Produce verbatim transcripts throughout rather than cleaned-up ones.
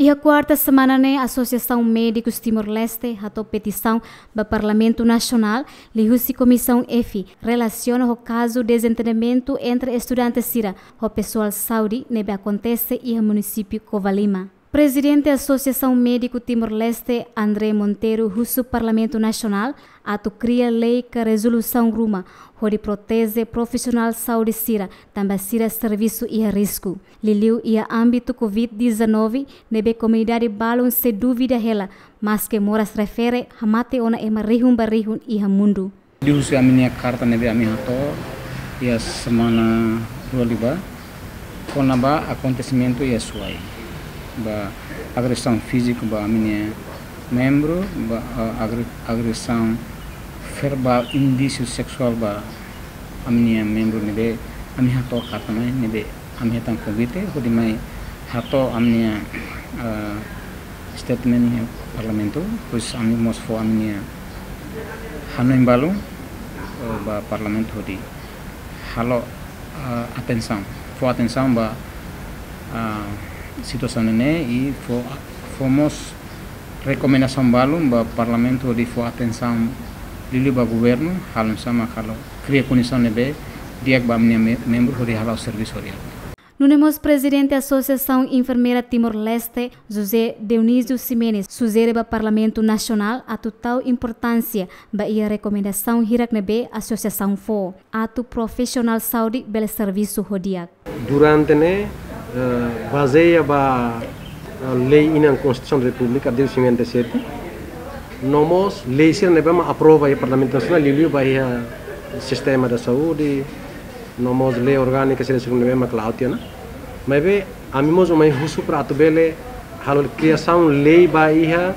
Iha kuarta semana ne'e, Asosiasaun Médikus Timor-Leste hato'o petisaun ba Parlamentu Nasionál liuhusi Komisaun F relasiona ho kazu dezentendimentu entre estudante sira ho pesoál saúde ne'ebé akontese iha munisípiu Covalima. Prezidente Asosiasaun Médiku Timor-Leste, André Monteiro, husu Parlamentu Nasionál atu kria lei ka rezolusaun ruma hodi proteje profisionál saúde sira, tanba sira servisu iha risku, liuliu iha ámbitu covid dezanove, ne'ebé komunidade balun sei dúvida hela, maske moras refere hamate ona ema rihun ba rihun iha mundu. Liuhusi ami-nia karta ne'ebé ami hato'o iha semana rua liubá, kona-ba akontesimentu iha Suai, ba agresaun fíziku ba ami-nia membru, ba, ah, agre-, agresaun verbál, indísiu seksuál ba ami-nia membru ne'ebé ami hato'o karta mai, ne'ebé ami hetan konvite hodi mai hato'o ami-nia, ah, statement iha Parlamentu, depois ami mós fó ami-nia hanoin balun, eh, ba Parlamentu hodi halo, ah, atensaun, fó atensaun ba, ah, situasaun ne'e i fó, fó mós rekomendasaun balun ba Parlamentu hodi fó atensaun liuliu ba governu, halo sama halo kria kondisaun ne'ebé di'ak ba ami-nia me-, membru hodi halo servisu hodi. Nune'e mós Prezidente Asosiasaun Enfermeira Timor-Leste, José Dionísio Ximenes, sujere ba Parlamentu Nasionál atu tau importánsia ba iha rekomendasaun hirak ne'ebé asosiasaun fó, atu profisionál saúde bele servisu ho di'ak. Durante ne'e, eh, bazeia ba, eh, lei inan Konstituisaun Repúblika de cinquenta e sete, no mós lei sira ne'ebé mak aprova iha Parlamentu Nasionál, liuliu ba iha sistema da saúde, no mós lei orgánika sira, sira ne'ebé mak la'o tiha ona. Maibé ami mós mai husu para atu bele halo kriasaun lei ba iha,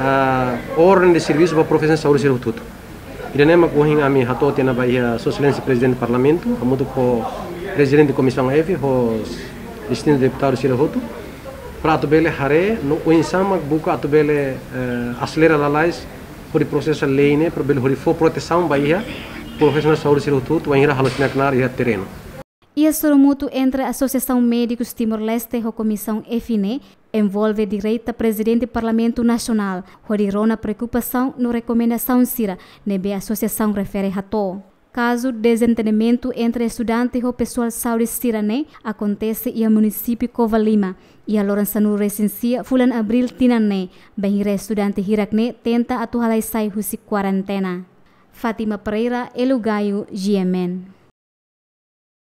ah, orden de servisu ba profisionál saúde sira hotu-hotu. Ida-ne'e mak ohin ami hato'o tiha ona ba iha Sua Exelénsia Prezidente Parlamentu, hamutuk ho Prezidente Komisaun F, ho distintu deputadu sira hotu, para atu bele haree no oinsá mak buka atu bele, eh, aselera lalais hodi prosesa lei ne'e, para bele hodi fó protesaun ba iha profisionál saúde sira hotu-hotu, wainhira halo sira knaar iha terrenu. Iha sorumutu entre Asosiasaun Médikus Timor-Leste ho Komisaun F ne'e, envolve direta Prezidente Parlamentu Nasionál, hodi rona preokupasaun no rekomendasaun sira ne'ebé asosiasaun refere hato'o. Kazu dezentendimentu entre estudante ho pesoál saúde sira-ne'e akontese iha munisípiu Covalima, iha loron sanulu-resin-sia fulan Abríl tinan ne'e, bainhira estudante hirak-ne'e tenta atu halai sai husi kuarentena. Fátima Pereira, Elo Gayo, G M N.